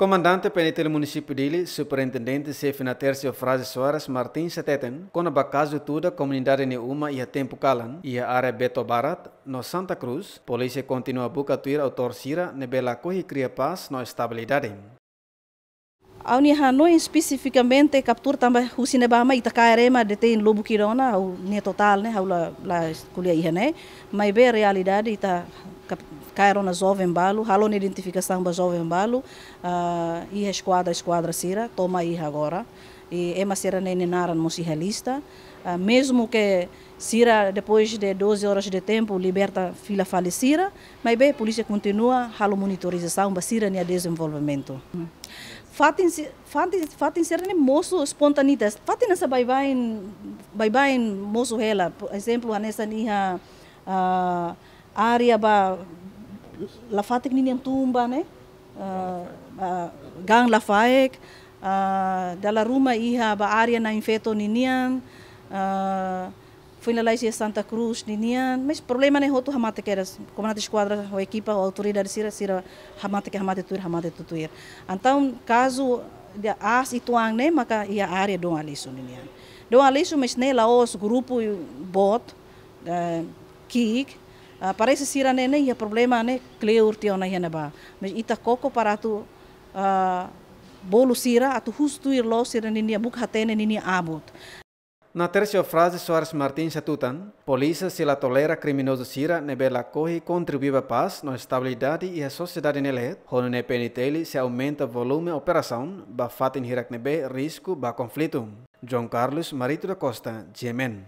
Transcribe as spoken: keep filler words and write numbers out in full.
Komandante P N T L Munisípiu Dili, Superintendente Xefe Natércio Fraze Soares Martins hateten, kona-ba kazu tuda komunidade nia uma iha tempu kalan, iha área Beto Barat, no Santa Cruz, polísia kontinua buka tuir autór sira ne'ebé lakohi kria pás no estabilidade. Ha'u-nia hanoin espesifikamente kaptura tanba husi ne'ebá mai ita kaer ema detein lubuk ida ona, ha'u-nia totál ne'e, ha'u la, la ko'alia iha ne'e, maibé realidade ita kap-, kaer ona joven balu, halo ona identifikasaun ba joven balu, ah, iha eskuadra, eskuadra sira, to'o mai iha agora. I ema sira-ne'e nia naran mós iha lista. Ah, mezmu ke sira, depois de doze horas de tempo, liberta fila fali sira, maibé polísia kontinua halo monitorizasaun ba sira-nia dezenvolvimentu. Fatin si-, fatin, fatin sira-ne'e mosu espontaneidade. Fatin hanesan baibain, baibain mosu hela. Por ezemplu, hanesan iha, ah, área ba lafatek ninian tun ba ne'e, ah, ah, gaan lafaek, ah, dala ruma iha ba área Na'in Feto ninian, ah, foin lalais iha Santa Cruz ninian, mas problema ne'e hotu hamate kedas, komandante eskuadra ho ekipa, ho autoridade sira, sira hamate ke hamate tuir, hamate tutuir. Entaun, kazu de aas uitoan ne'e maka iha área Dom Aleixo ninian. Dom Aleixo, mas ne'e la'ós grupu boot, eh, ki'ik, ah, parese sira-ne'e ne'e iha problema ne'e kleur tiha ona iha ne'ebá. Mas ita koko para atu, ah, bolu sira, atu husu tuir loos sira-ninia buka hatene ninia abut. Natércio Fraze Soares Martins hatutan, polísia sei la tolera kriminozu sira ne'ebé lakohi kontribui ba pás no estabilidade iha sosiedade nia leet, ho nune'e P N T L sei aumenta volume operasaun ba fatin hirak ne'ebé risku ba konflitu. João Carlos Marito da Costa, G M N.